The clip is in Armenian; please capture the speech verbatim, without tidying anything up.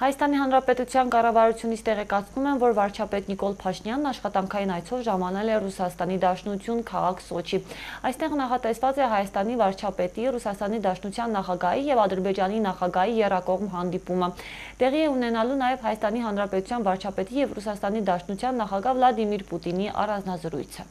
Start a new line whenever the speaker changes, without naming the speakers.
Հայաստանի Հանրապետության կառավարությունից տեղեկացնում են, որ վարչապետ Նիկոլ Փաշինյանն աշխատանքային այցով ժամանել է Ռուսաստանի Դաշնություն քաղաք Սոչի։ Այստեղ նախատեսված է Հայաստանի վարչապետի, Ռուսաստանի Դաշնության նախագահի եւ Ադրբեջանի նախագահի եռակողմ հանդիպումը։ Տեղի է ունենալու նաեւ Հայաստանի Հանրապետության վարչապետի եւ Ռուսաստանի Դաշնության նախագահ Վլադիմիր Պուտինի առանձնազրույցը։